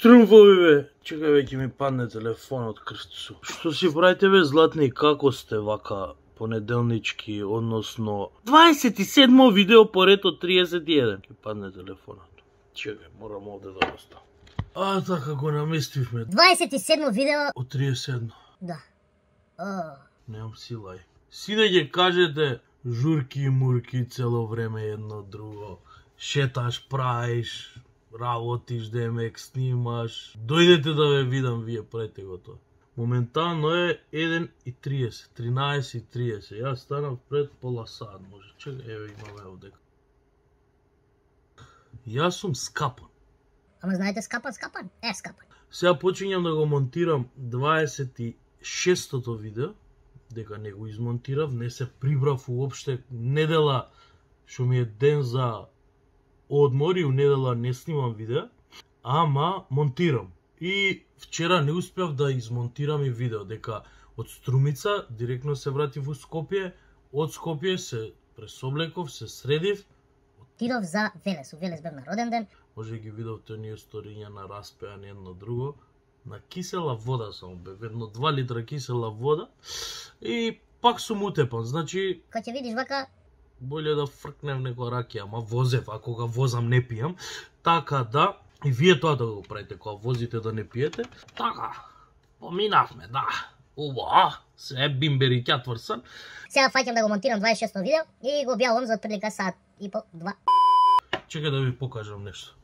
Штрумфови бе, чекај веќе ми падне телефонот крстцу. Што си правите бе златни, како сте вака понеделнички, односно 27 видео поред од 31. Ке падне телефонот. Чекај, морам овде да оставам. Така го наместивме. 27 видео од 31. Да. Немам сила. Сиде ќе кажете журки и мурки цело време едно друго. Шеташ, правиш, работиш, демек, снимаш. Дојдете да ве видам, вие правите го тоа. Моментално е 1:30, 13:30. Јас станав пред пола сат, може. Чекај, еве имаме овде. Јас сум скапан. Ама знаете скапан? Скапан. Сега почињам да го монтирам 26-тото видео, дека не го измонтирав, не се прибрав уопште. Недела, што ми е ден за одмор и у недела не снимам видео, ама монтирам. И вчера не успев да измонтирам и видео, дека од Струмица директно се вратив у Скопје, од Скопје се пресоблеков, се средив. Отидов за Велес, у Велес бев на роден ден. Може ги видовте оние сториња на распеање едно друго. На кисела вода само бев, едно 2 литра кисела вода и пак сум утепан, значи... Кога ќе видиш вака... Боле да фркнем некоја ракија, ама возев, а кога возам не пијам. Така да, и вие тоа да го правите, кога возите да не пиете. Така, поминавме, да. Ува, се бимбери ќатврсан. Сега фаќам да го монтирам 26-то видео и го објавувам за отприлика сат и по 2. Чекај да ви покажам нешто.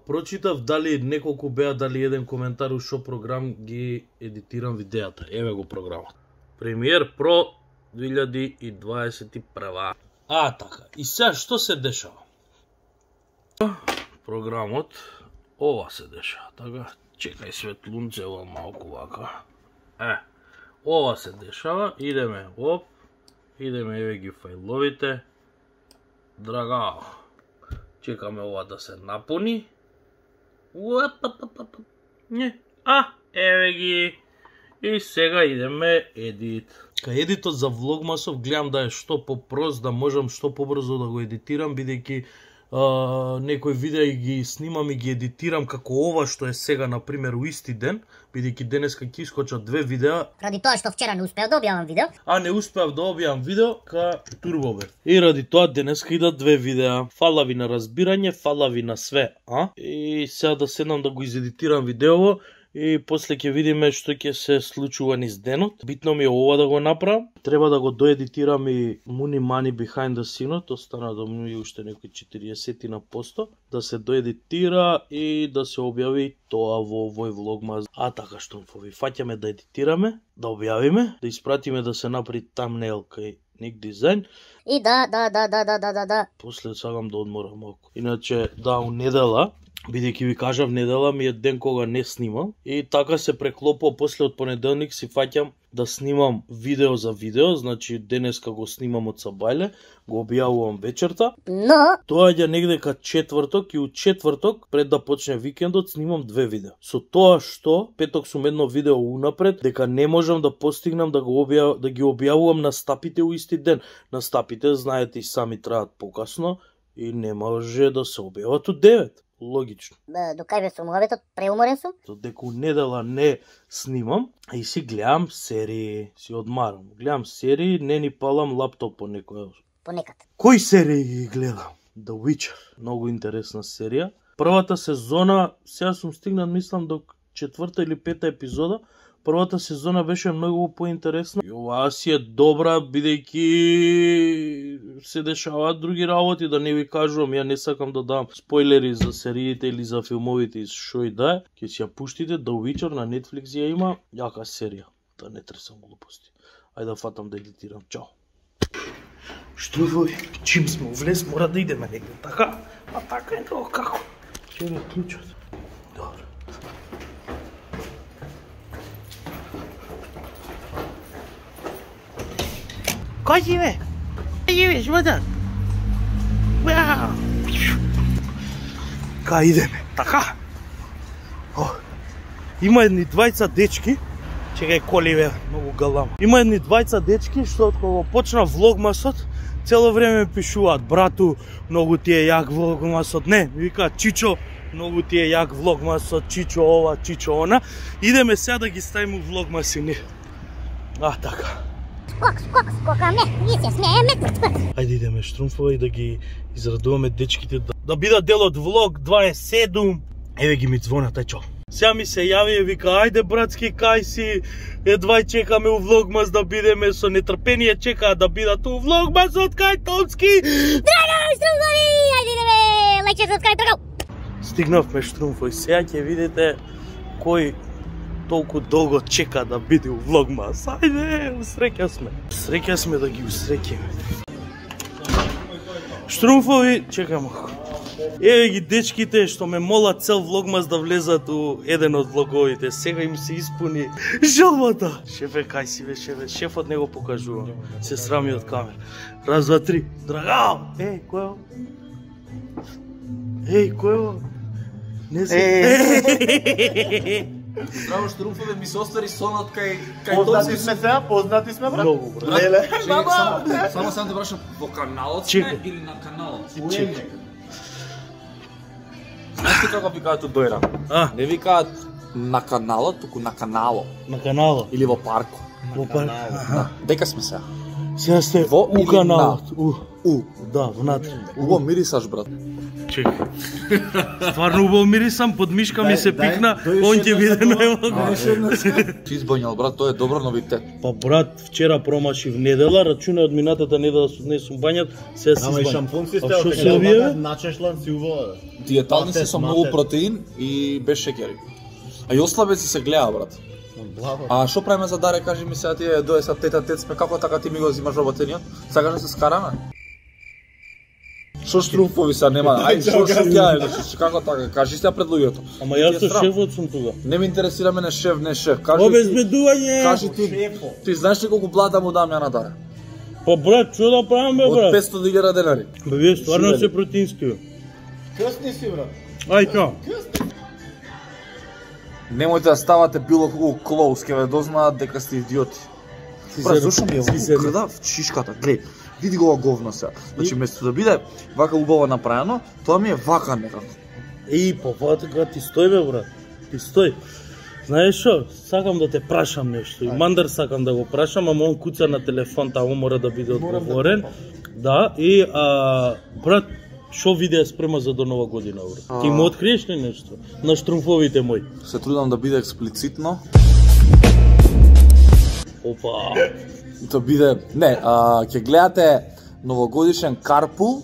Прочитав дали неколку беа дали еден коментар у шо програм ги едитирам видеата. Еве го програмот. Premiere Pro 2021. Така. И сега што се дешава? Програмот ова се дешава. Така, чекај светлунце ова малку вака. Ова се дешава. Идеме оп. Идеме еве ги фајловите. Драгао. Чекаме ова да се напуни. Еве ги. И сега идеме едит. Кај едитот за влогмасов гледам да е што попрост, да можам што побрзо да го едитирам, бидејќи некои видеа ги снимам и ги едитирам како ова што е сега, например, у исти ден, бидејќи денеска ќе искочат 2 видеа. Ради тоа што вчера не успеав да објавам видео. Не успеав да објавам видео, турбо бев. И ради тоа денеска идат 2 видеа. Фала ви на разбирање, фала ви на све, И сега да седнам да го изедитирам видеово. И после ќе видиме што ќе се случува низ денот. Битно ми е ова да го направам. Треба да го доедитирам и Муни Мани Behind the Scene-от, остана да му и уште некои 40%, да се доедитира и да се објави тоа во овој влогмас. Така штумфови, фаќаме да едитираме, да објавиме, да испратиме да се направи тамнейл кај Ник Дизајн. И да. После сакам да одморам малку. Иначе, у недела, бидејќи ви кажав, недела ми е ден кога не снимам и така се преклопува после од понеделник си фаќам да снимам видео за видео, значи денеска го снимам од Сабајле, го објавувам вечерта. Но Доаѓа негде ка четврток и у четврток пред да почне викендот снимам 2 видео. Со тоа што петок сум едно видео унапред дека не можам да постигнам да ги објавувам на стапите у исти ден. На стапите знаете и сами траат покасно и не може да се објават у 9. Логично. До кај бе сум обетот, преуморен сум. Дека недела не снимам и си гледам серии, си одмарам. Гледам серии, не ни палам лаптоп по некоја. Понекад. Кои серии ги гледам? The Witcher. Многу интересна серија. Првата сезона, сега сум стигнат, мислам, до 4-та или 5-та епизода. Првата сезона беше многу поинтересна. И оваа си е добра, бидејќи се дешаваат други работи, да не ви кажувам, ја не сакам да дам спойлери за сериите или за филмовите и шо и да е. Ќе си ја пуштите, The Witcher на Netflix ја има, јака серија. Да не тресам глупости. Ајде да фатам да едитирам. Чао. Штруфови, чим сме увлез, мора да идеме негде, така? Така е тоа како? Ќе е клучот. Добро. Кој си бе? Кој си бе, шматар? Кај идеме? Така? Има едни двајца дечки. Чекај коли бе, многу галам. Има едни двајца дечки што од кога почна влогмасот, цело време пишуваат: брату, многу ти е јак влогмасот. Не, ми викаат: Чичо, Многу ти е јак влогмас со Чичо ова, Чичо она. Идеме сега да ги ставиме влогмасини. Така. Скокаме, ние се смееме. Ајде идеме Штрумфова и да ги израдуваме дечките да бидат дел од влог 27. Еве ги ми звонат, ај чо. Сега ми се јави и вика, ајде братски, кај си, едвај чекаме у влогмас да бидеме, со нетрпение чекаат да бидат у влогмас од кај Томски. Драго, Штрумфови, ајде идеме, лечер од кај Торгал. Стигнавме Штрумфови, сега ќе видите кој толку долго чека да биде у влогмас. Ајде, усреќа сме. Усреќа сме да ги усреќиме. Штрумфови, чекам малку. Еве ги дечките што ме молат цел влогмас да влезат у еден од влоговите. Сега им се испуни жалбата. Шефе, кај си бе, шефе? Шефот не го покажува. Се срами од камера. Раз, два, три. Драгал! Кој е ово? Кој е ово? Не се. Здраво Штрумфове, ми се остари сонот кај Познати сме сега, познати сме, брат. Многу, брат. Леле. Само те прашам, во каналот Чекай. сме или на каналот? Знаеш ти како викаат од Дојра? Не викаат на каналот, туку на канало. На каналот. Или во парко. Во парк. Дека сме сега? Сега сте Во у или каналот. У. Да, внатре. Убаво мирисаш, брат. Чекай. Стварно убаво мирисам, под мишка ми се пикна, он ќе биде најлако. Ти избоњал, брат, тоа е добро новитет. Па брат, вчера промашив недела, рачуна од минатата недела не сум бањат, сега си Ама и избањам. шампун си А стел, шо така се овие? да начешлан си увода. Диетални се со Матер, многу матер. протеин и без шеќери. А и ослабеци се гледа, брат. А што правиме за даре, кажи ми сега тие дое са тета тет сме, како така ти ми го взимаш работениот? Сакаш да се скараме? Шо Штрумфови са нема? Ајде, шо ќе како така? Кажи сега пред луѓето. Ама јас Ти е со срам. шефот сум тука. Не ме интересира мене шеф, не шеф. Кажи ти, Обезбедување! кажи ти знаеш ли колку плата му дам ја на даре? Па брат, што да правам бе Од брат? 500.000 денари. Бе, вие стварно Живели. се протински. Крстни си, брат. Ај чао. Немојте да ставате било колку клоус, ќе ве дознаат дека сте идиоти. Брат, зашто ми е во крда в чишката? Глеј, види го ова говно сега. Значи, место да биде вака убаво направено, тоа ми е вака некако. Па вака ти стој бе брат. Ти стој. Знаеш шо? Сакам да те прашам нешто. И Мандар сакам да го прашам, ама он куца на телефон, таму мора да биде одговорен. Да, и брат, шо видео спрема за до нова година, брат? Ти му откриеш ли нешто? На Штрумфовите мои. Се трудам да биде експлицитно. Опа. Да биде, не, ќе гледате новогодишен карпул.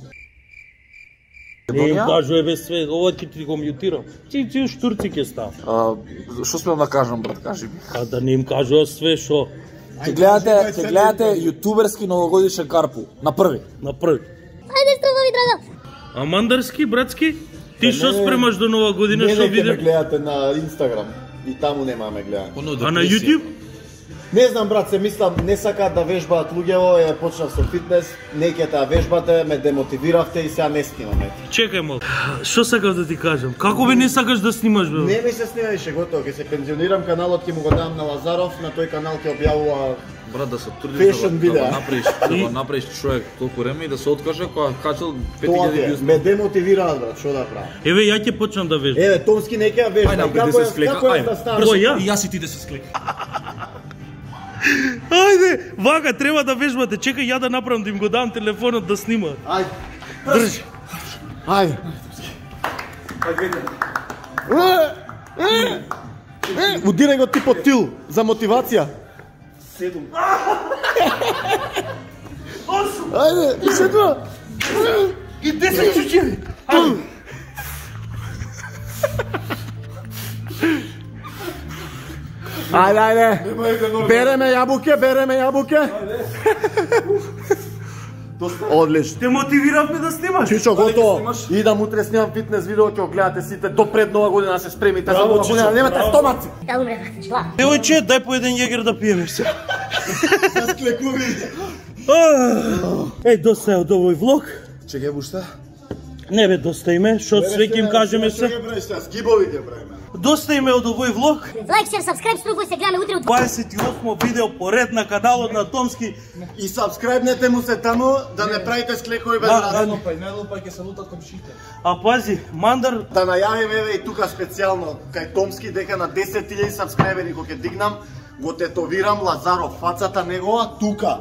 Не им кажува бе све, ова ќе ти го мјутирам. Ти штурци ќе став. Што смеам да кажам, брат, кажи ми. А да не им кажува све шо Ќе гледате јутуберски новогодишен карпул на први. на први. Ајде, Штрумфови, драго. А мандарски, братски? Ти што спремаш до нова година, Не што ме виде? гледате на Инстаграм. И таму немаме гледане. А на YouTube? Не знам, брат, се мислам, не сакаат да вежбаат луѓево, ја почнав со фитнес, не ќе таа вежбате, ме демотивиравте и сега не снимаме. Чекај малку. Што сакав да ти кажам? Како бе не сакаш да снимаш бе? Не ми се снима више, готово, ќе се пензионирам, каналот ќе му го дам на Лазаров, на тој канал ќе објавува. Брат, да се трудиш Fashion да видеа. го направиш, да го направиш човек толку време и да се откаже кога качал Тоа 5000 ќе вјуз. ме демотивираат, брат, што да правам? Еве ја ќе почнам да вежбам. Еве, Томски не ќе ја вежба. Ајде, напред, Како да се е- склека, како е ајде. да ставаш? Кој ја? И јас и ти да се склек. Ајде, вака треба да вежбате. Чекај ја да направам да им го дам телефонот да снимаат. Ајде. Држи. Ајде. Удирај го ти по тил за мотивација. 7. Ајде, и се тоа. И 10 чучеви. Ајде, ајде. Береме јабуке. Одлично. Те мотивиравме да снимаш. Чичо, готово. Идам утре снимам фитнес видео, ќе го гледате сите до пред нова година да се спремите за нова година, немате стомаци. Да умре, брат. Шла. Девојче, дај по еден јегер да пиеме се. Еј, доста е од овој влог. Чекај уште. Не бе, доста име, што све ќе им кажеме се. Гибови ќе правиме. Доста име од овој влог. Лайк, шер, сабскрайб, струвај се, гледаме утре од 28 видео поред на каналот на Томски. И сабскрайбнете му се таму, да не правите склекови без разум. Не лупај, ќе се лутат комшите. А пази, Мандар, Да најавим еве и тука специјално кај Томски дека на 10.000 сабскрайбери кога ќе дигнам, го тетовирам Лазаров фацата негова тука.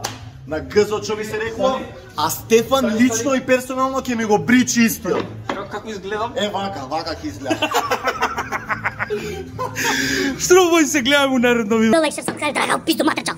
На гзот што ми се рекло, а Стефан лично и персонално ќе ми го бричи истиот. Како изгледам? Вака ќе изгледа. Струвај се, гледаме у наредно видео. лайк, шер, сабскрайб, драга, пизду матрича.